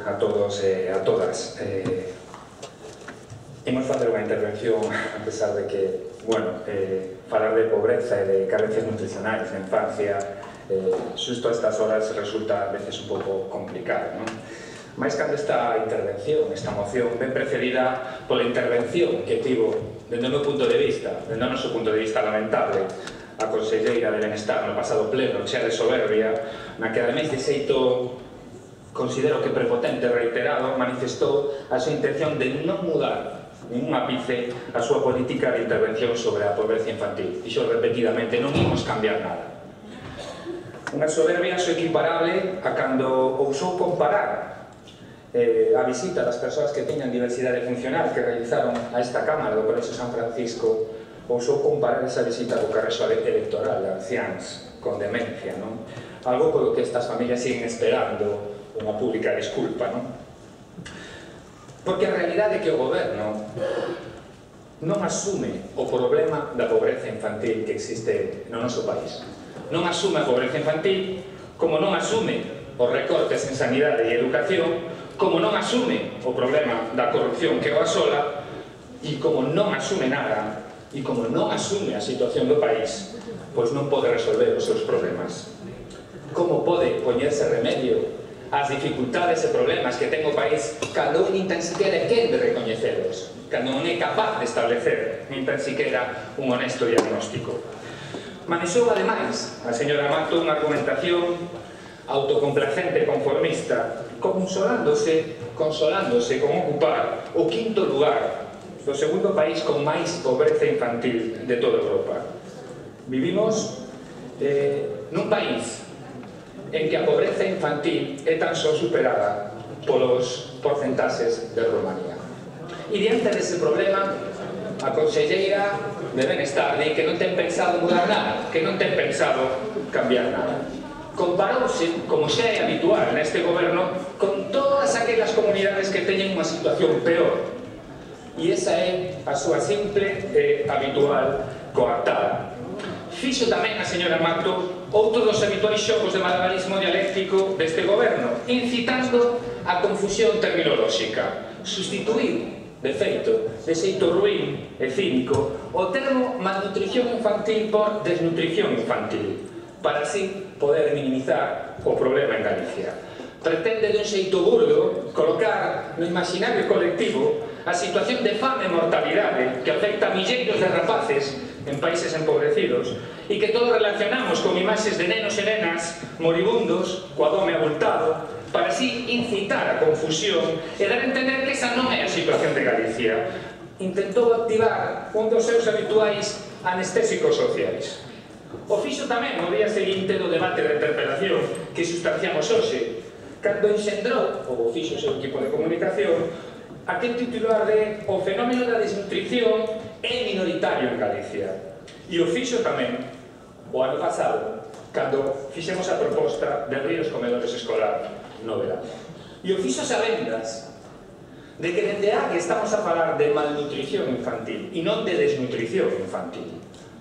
a todos e a todas. Imos facer unha intervención, a pesar de que, bueno, falar de pobreza e de carencias nutricionais na infancia, xusto a estas horas resulta a veces un pouco complicado, non? Mais cando esta intervención, esta moción, ben precedida pola intervención que tivo, dende o meu punto de vista, dende o noso punto de vista lamentable, a conselleira de Benestar no pasado pleno, chea de soberbia, na que ademais de xeito, considero que prepotente e reiterado, manifestou a súa intención de non mudar nin un ápice a súa política de intervención sobre a pobreza infantil. Dixo repetidamente, non imos cambiar nada. Unha soberbia só equiparable a cando ousou comparar a visita das persoas que teñan diversidade funcional que realizaron a esta Cámara do Colexio San Francisco, ousou comparar esa visita co carrexo electoral de anciáns con demencia, non? Algo polo que estas familias siguen esperando unha pública desculpa, non? Porque a realidade é que o goberno non asume o problema da pobreza infantil que existe no noso país. Non asume a pobreza infantil, como non asume os recortes en sanidade e educación, como non asume o problema da corrupción que o asola, e como non asume nada, e como non asume a situación do país, pois non pode resolver os seus problemas. Como pode poñerse remedio ás dificultades e problemas que ten o país cando nin tan siquiera quere recoñecelos, cando non é capaz de establecer nin tan siquiera un honesto diagnóstico? Manexou, ademais, a señora Mato unha argumentación autocomplacente e conformista, consolándose con ocupar o quinto lugar do segundo país con máis pobreza infantil de toda Europa. Vivimos nun país en que a pobreza infantil é tan só superada polos porcentaxes de Romanía. E diante dese problema, a conselleira de Benestar di que non ten pensado mudar nada, que non ten pensado cambiar nada. Comparouse, como xa é habitual neste goberno, con todas aquelas comunidades que teñen unha situación peor. E esa é a súa simple e habitual coartada. Fixo tamén a señora Mato outro dos habituais xogos de malabarismo dialéctico deste goberno, incitando a confusión terminolóxica. Sustituir, de feito, de xeito ruín e cínico, o termo malnutrición infantil por desnutrición infantil, para así poder minimizar o problema en Galicia. Pretende dun xeito burdo colocar no imaginario colectivo a situación de fame e mortalidade que afecta a milleiros de rapaces en países empobrecidos e que todos relacionamos con imaxes de nenos e nenas moribundos coa dome abultado para así incitar a confusión e dar a entender que esa non é a situación de Galicia. Intentou activar un dos seus habituais anestésicos sociais. O fixo tamén no día seguinte do debate da interpelación que sustanciamos hoxe, cando enxendrou, ou fixo o seu equipo de comunicación, aquel titular de "O fenómeno da desnutrición é minoritario en Galicia". E o fixo tamén o ano pasado, cando fixemos a proposta de abrir os comedores escolar no verano. E o fixo sabendas de que dende aquí estamos a falar de malnutrición infantil e non de desnutrición infantil.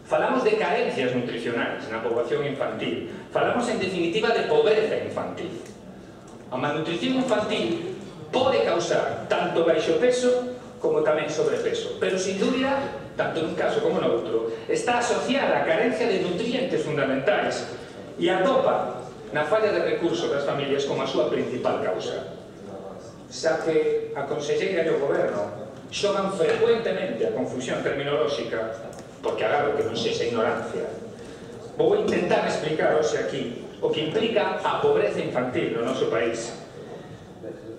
Falamos de carencias nutricionais na poboación infantil. Falamos, en definitiva, de pobreza infantil. A malnutrición infantil pode causar tanto baixo peso como tamén sobrepeso, pero, sin dúbida, tanto nun caso como noutro, está asociada a carencia de nutrientes fundamentais e atopa na falla de recursos das familias como a súa principal causa. Xa que a conselleira e o goberno xogan frecuentemente a confusión terminolóxica, porque agado que non sexa ignorancia, vou intentar explicar hoxe aquí o que implica a pobreza infantil no noso país.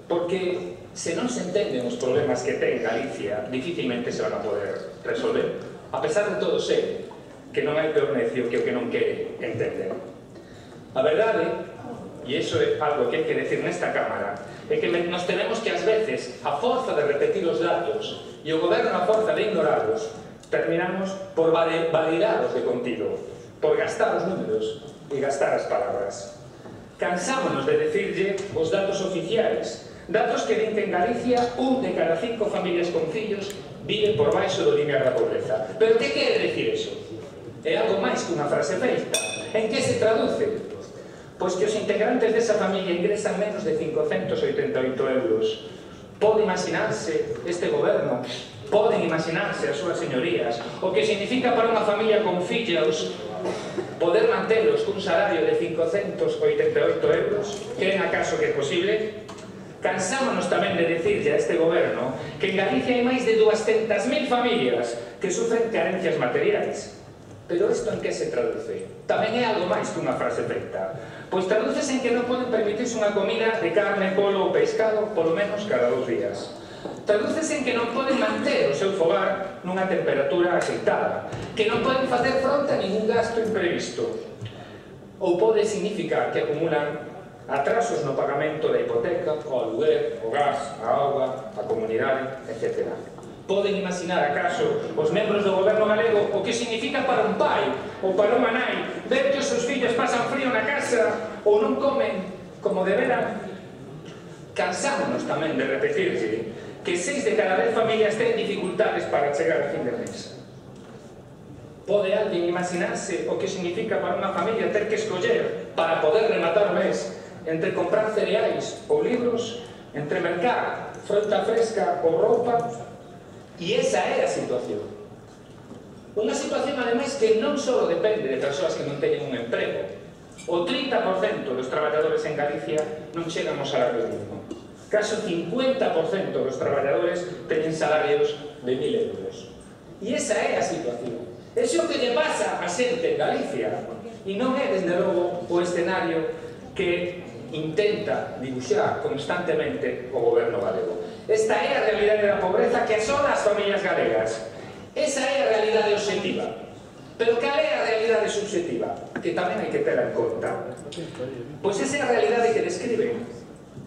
Porque se non se entenden os problemas que ten Galicia, dificilmente se van a poder resolver. A pesar de todo, sei que non hai peor necio que o que non quere entender. A verdade, e iso é algo que hai que decir nesta Cámara, é que nos tenemos que, ás veces, a forza de repetir os datos e o goberno a forza de ignorarlos, terminamos por validaros de contido, por gastar os números e gastar as palabras. Cansámonos de decirlle os datos oficiais, datos que din que en Galicia 1 de cada 5 familias con fillos vive por baixo do limiar da pobreza. Pero que quere decir iso? É algo máis que unha frase feita. En que se traduce? Pois que os integrantes desa familia ingresan menos de 588 euros. Pode imaginarse este goberno, poden imaginarse as súas señorías, o que significa para unha familia con fillos poder mantelos cun salario de 588 euros? Creen acaso que é posible? Cansámonos tamén de dicirlle a este goberno que en Galicia hai máis de 200.000 familias que sufren carencias materiais. Pero isto en que se traduce? Tamén é algo máis que unha frase feita. Pois tradúcese en que non poden permitirse unha comida de carne, polo ou pescado polo menos cada 2 días. Tradúcese en que non poden manter o seu fogar nunha temperatura aceitada, que non poden facer fronte a ningún gasto imprevisto. Ou pode significar que acumulan atrasos no pagamento da hipoteca, o aluguer, o gas, a auga, a comunidade, etc. Poden imaginar acaso os membros do goberno galego o que significa para un pai ou para unha nai ver que os seus fillos pasan frío na casa ou non comen como deberan? Cansámonos tamén de repetirse que 6 de cada 10 familias ten dificultades para chegar a fin de mes. Pode alguén imaginarse o que significa para unha familia ter que escoller para poder rematar o mes entre comprar cereais ou libros, entre mercar fronta fresca ou roupa? E esa é a situación. Unha situación, ademais, que non só depende de persoas que non teñen un emprego. O 30% dos traballadores en Galicia non chegan ao salario mínimo. Caso 50% dos traballadores teñen salarios de 1.000 euros. E esa é a situación. Ese é o que lle pasa a xente en Galicia. E non é, desde logo, o escenario que intenta dibuixar constantemente o goberno galego. Esta é a realidade da pobreza que asola as familias galegas. Esa é a realidade obxectiva. Pero cal é a realidade subxectiva? Que tamén hai que ter en conta. Pois esa é a realidade que describen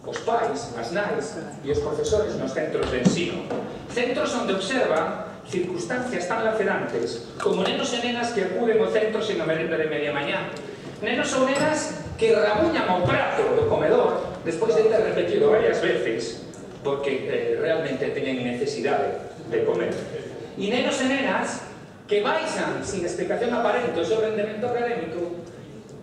os pais, as nais e os profesores nos centros de ensino. Centros onde observan circunstancias tan lacerantes como nenos e nenas que acuden ao centro sen a merenda de media mañá. Nenos ou nenas que rabuñan ao prato do comedor despois de ter repetido varias veces porque realmente teñen necesidade de comer. E nenos e nenas que baixan sin explicación aparente o seu rendemento académico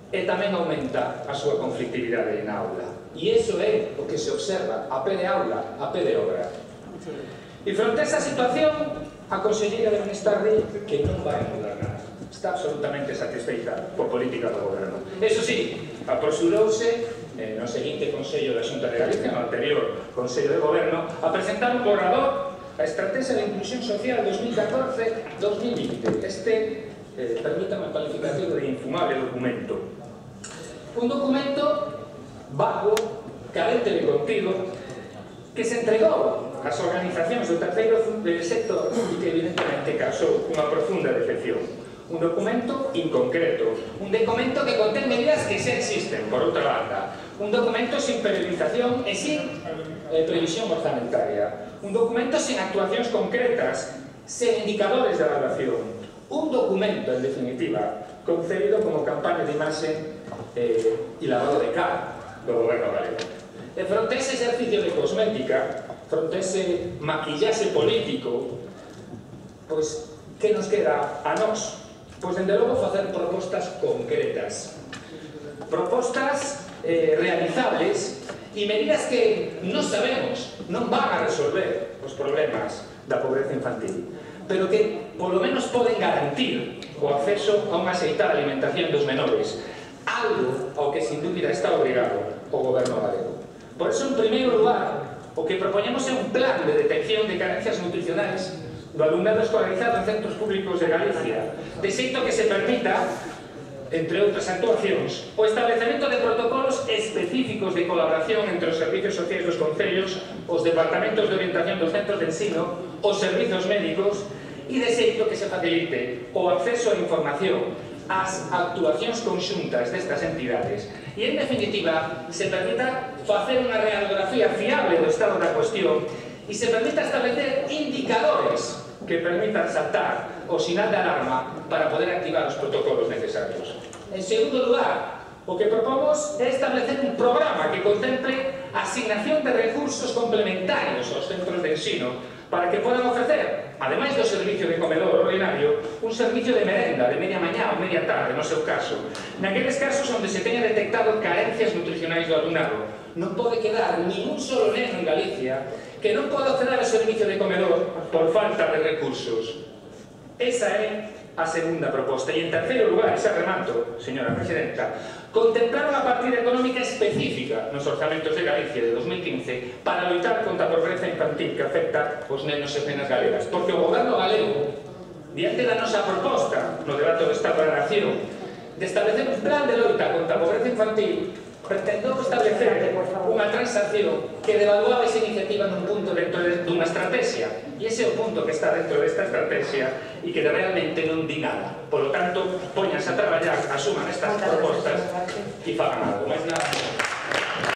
e tamén aumenta a súa conflictividade na aula. E iso é o que se observa a pé de aula, a pé de obra. E fronte a esa situación, a conselleira de Benestar di que non vai mudar nada. Está absolutamente satisfeita por política do goberno. Eso sí, apresurouse no seguinte Consello da Xunta de Galicia, no anterior Consello de Goberno, a presentar un borrador a Estrategia de Inclusión Social 2014-2020. Este, permítame o calificativo de infumable documento. Un documento vago, carente de contido, que se entregou ás organizacións do terceiro sector e que evidentemente causou unha profunda decepción. Un documento inconcreto, un documento que contén medidas que xa existen, por outra banda, un documento sin periodización e sin previsión orzamentaria, un documento sin actuacións concretas, sen indicadores de evaluación, un documento, en definitiva, concebido como campaña de imaxe e lavado de cara do goberno galego. E fronte a ese exercicio de cosmética, fronte a ese maquillaxe político, pois, que nos queda a nós? Pois, dende logo, facer propostas concretas. Propostas realizables e medidas que non sabemos, non van a resolver os problemas da pobreza infantil, pero que, polo menos, poden garantir o acceso a unha aceitada alimentación dos menores, algo ao que, sin dúbida, está obrigado o goberno galego. Por iso, en primeiro lugar, o que propoñemos é un plan de detección de carencias nutricionais do alumnado escolarizado en centros públicos de Galicia, de xeito que se permita, entre outras actuacións, o establecemento de protocolos específicos de colaboración entre os servicios sociais dos concellos, os departamentos de orientación dos centros de ensino, os servizos médicos, e de xeito que se facilite o acceso á información, ás actuacións conxuntas destas entidades e, en definitiva, se permita facer unha radiografía fiable do estado da cuestión e se permita establecer indicadores que permitan saltar o sinal de alarma para poder activar os protocolos necesarios. En segundo lugar, o que propomos é establecer un programa que contemple asignación de recursos complementarios aos centros de ensino para que podan ofrecer, ademais do servicio de comedor ordinario, un servicio de merenda de media mañá ou media tarde, no seu caso. Naqueles casos onde se teña detectado carencias nutricionais do alumnado, non pode quedar nin un solo neno en Galicia que non pode acceder ao servicio de comedor por falta de recursos. Esa é a segunda proposta. E en terceiro lugar, xa remato, señora presidenta, contemplar unha partida económica específica nos orzamentos de Galicia de 2015 para loitar contra a pobreza infantil que afecta os nenos e nenas galegas. Porque o goberno galego, diante da nosa proposta no debate do Estado da Nación de establecer un plan de loita contra a pobreza infantil, pretendeu establecer unha transacción que devaluaba esa iniciativa nun punto dentro dunha estrategia, e ese é o punto que está dentro desta estrategia e que realmente non di nada. Por lo tanto, póñanse a traballar, asuman estas propostas e fagan algo. Mais nada.